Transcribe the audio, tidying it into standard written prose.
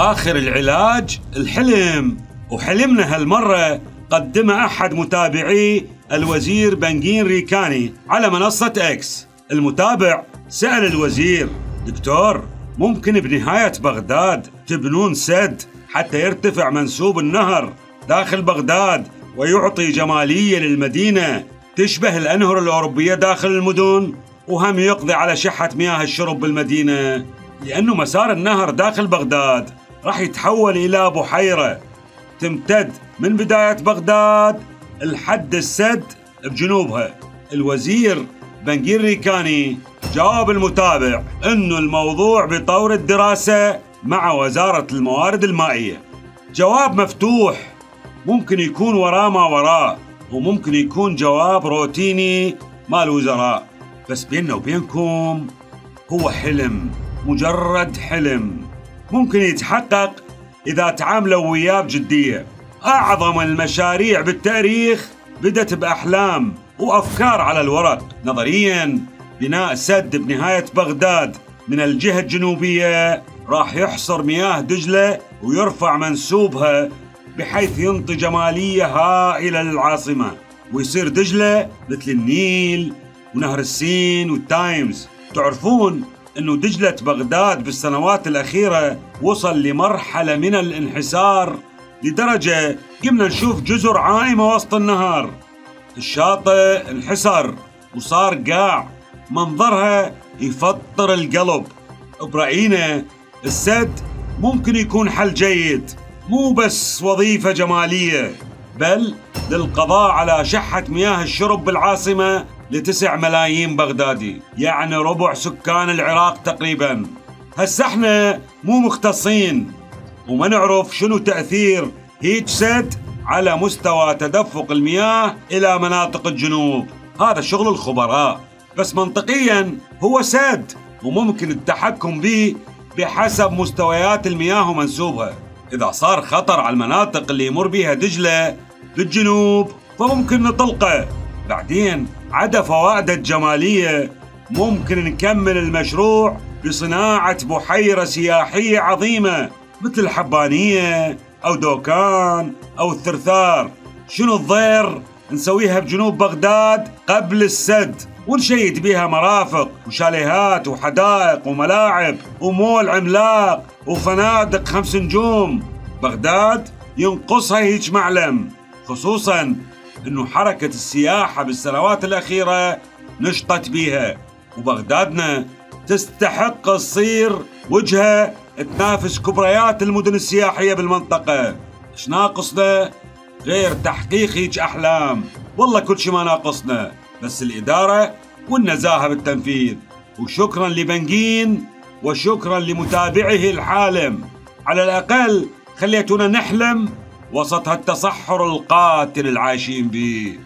آخر العلاج الحلم، وحلمنا هالمرة قدمه أحد متابعي الوزير بنغين ريكاني على منصة إكس. المتابع سأل الوزير: دكتور، ممكن بنهاية بغداد تبنون سد حتى يرتفع منسوب النهر داخل بغداد ويعطي جمالية للمدينة تشبه الأنهر الأوروبية داخل المدن، وهم يقضي على شحة مياه الشرب بالمدينة؟ لأنه مسار النهر داخل بغداد راح يتحول إلى بحيرة تمتد من بداية بغداد لحد السد بجنوبها. الوزير بنغين ريكاني جاوب المتابع أنه الموضوع بطور الدراسة مع وزارة الموارد المائية. جواب مفتوح، ممكن يكون وراه ما وراه، وممكن يكون جواب روتيني مال وزراء، بس بيننا وبينكم هو حلم، مجرد حلم ممكن يتحقق إذا تعاملوا وياه بجدية. أعظم المشاريع بالتاريخ بدت بأحلام وأفكار على الورق. نظرياً بناء سد بنهاية بغداد من الجهة الجنوبية راح يحصر مياه دجلة ويرفع منسوبها بحيث ينطي جمالية هائلة للعاصمة، ويصير دجلة مثل النيل ونهر السين والتايمز. تعرفون أنه دجلة بغداد بالسنوات الأخيرة وصل لمرحلة من الانحسار لدرجة قمنا نشوف جزر عائمة وسط النهر. الشاطئ انحسر وصار قاع، منظرها يفطر القلب. برأينا السد ممكن يكون حل جيد، مو بس وظيفة جمالية، بل للقضاء على شحة مياه الشرب بالعاصمة ل9 ملايين بغدادي، يعني ربع سكان العراق تقريبا. هسه احنا مو مختصين وما نعرف شنو تأثير هيج سد على مستوى تدفق المياه إلى مناطق الجنوب، هذا شغل الخبراء، بس منطقيا هو سد وممكن التحكم به بحسب مستويات المياه ومنسوبها. إذا صار خطر على المناطق اللي يمر بها دجلة بالجنوب فممكن نطلقه. بعدين عدا فوائده الجمالية ممكن نكمل المشروع بصناعة بحيرة سياحية عظيمة مثل الحبانية أو دوكان أو الثرثار. شنو الضير نسويها بجنوب بغداد قبل السد ونشيد بها مرافق وشاليهات وحدائق وملاعب ومول عملاق وفنادق 5 نجوم. بغداد ينقصها هيج معلم، خصوصا انه حركة السياحة بالسنوات الأخيرة نشطت بيها، وبغدادنا تستحق تصير وجهة تنافس كبريات المدن السياحية بالمنطقة. ايش ناقصنا غير تحقيق هيج أحلام؟ والله كل شي ما ناقصنا، بس الإدارة والنزاهة بالتنفيذ. وشكرا لبنغين وشكرا لمتابعه الحالم، على الأقل خليتونا نحلم وسط هالتصحر القاتل العايشين به.